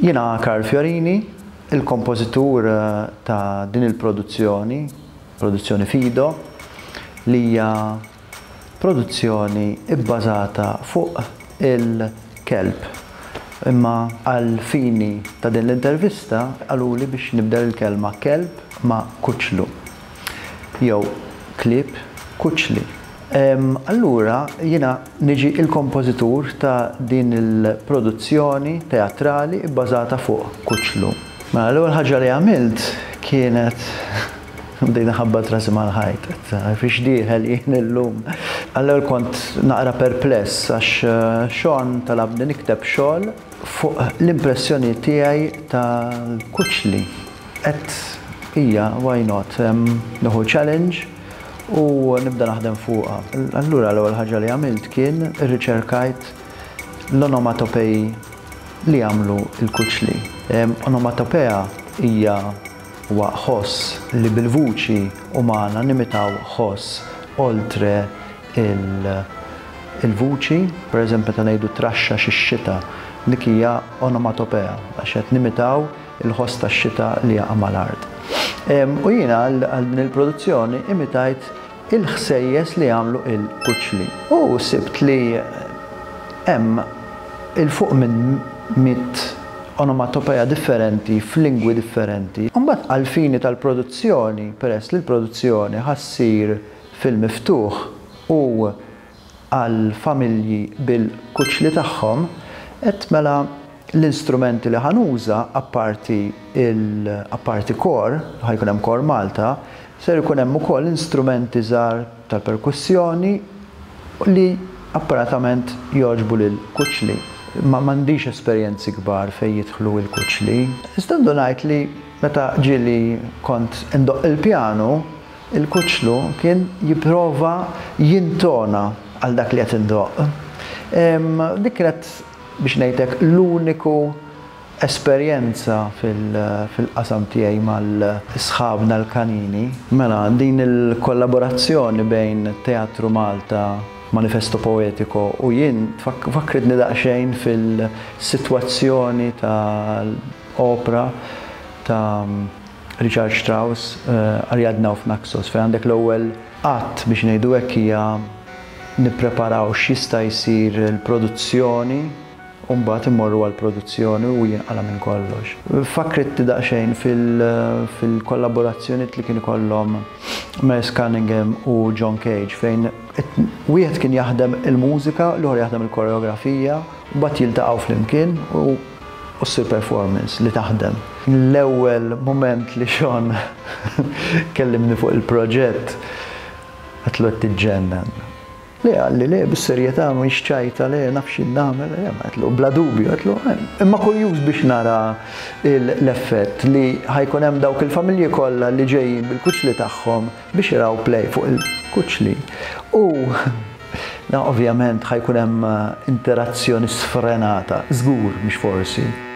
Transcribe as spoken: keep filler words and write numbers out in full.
Jiena Karl Fiorini, il-kompożitur ta' din il-produzzjoni, produzzjoni Fido, li hija produzzjoni bbażata fuq il-kelb. Imma għal fini ta' din l-intervista qaluli biex nibdel il-kelma kelb ma' kuċlu. Jew klieb kuċli. Allura jiena niġi il-kompożitur ta' din il-produzzjoni teatrali bbażata fuq kuċlu. Mela, l-ewwel ħaġa li għamilt kienet bdejna ħabbat rasi mal-ħajt, fiex dieħel jien illum. Allura kont naqra perpless għax Sean talabni nikteb xogħol fuq l-impressjoni tiegħi tal-kuċli. Et ija, why not, nieħu challenge u nibda naħdem fuqha. Allura l-ewwel ħaġa li għamilt kien irriċerkajt l-onomatopej li jagħmlu l-kuċli. Onomatopea hija huwa ħoss li bil-vuċi umana nimitaw ħoss oltre il-vuċi, per eżempju ta' ngħidu traxxa xix-xita, dik hija onomatopea għax qed nimitaw il-ħoss tax-xita li jaqa' mal-art. U jiena għal din il-produzzjoni imitajt il-ħsejjes li jagħmlu il-kuċli. U sibt li hemm 'il fuq minn mitt onomatopea differenti f'lingwi differenti. Mbagħad għal-fini tal-produzzjoni, peress li l-produzzjoni ħa ssir fil-miftuħ u għal-familji bil-kuċli tagħhom, et mela l-instrumenti li ħa nuża apparti il apparti kor, ħa jkun hemm kor Malta, ser ikun hemm ukoll instrumenti żgħar tal-perkussjoni li apparatament jogħġbu lil kuċli. Ma m'għandix esperjenzi kbar fejn jidħlu il-kuċli. Iżda ngħid li meta ġieli kont indoqq il-pjanu, il-kuċlu kien jipprova jintona għal dak li qed indoqq. Dik kienet, biex ngħidlek, l-uniku esperjenza fil-qasam tiegħi mal-sħabna l-kanini. Mela, din il-kollaborazzjoni bejn Teatru Malta, Manifesto Poetico u jien fakritni daqsxejn fil-sitwazzjoni tal-opera ta' Richard Strauss, Ariadne auf Naxos, fejn għandek l-ewwel att, biex ngħidu hekk, hija nippreparaw x'jista' jsir il-produzzjoni u mbagħad immorru għall-produzzjoni u jinqala minn kollox. Fakritni daqsxejn fil-kollaborazzjoni li kien ikollhom Merce Cunningham u John Cage, fejn wieħed kien jaħdem il-mużika, l-ieħor jaħdem il-koreografija, u mbagħad jiltaqgħu flimkien u u ssir performance li taħdem. L-ewwel moment li Sean kellimni fuq il-proġett, għedtlu, "Qed tiġġennen." Le, qalli, "Le, bis-serjetà, mhux ċajta, le, naf x'in nagħmel." Le, għedtlu, "Bla dubju," għedtlu, "imma kurjuż biex nara l-effett li ħa jkun hemm dawk il-familji kollha li ġejjin bil-kuċli tagħhom biex jaraw play fuq il-kuċli." U na, ovvjament ħa jkun hemm interazzjoni sfrenata, żgur, mhux forsi.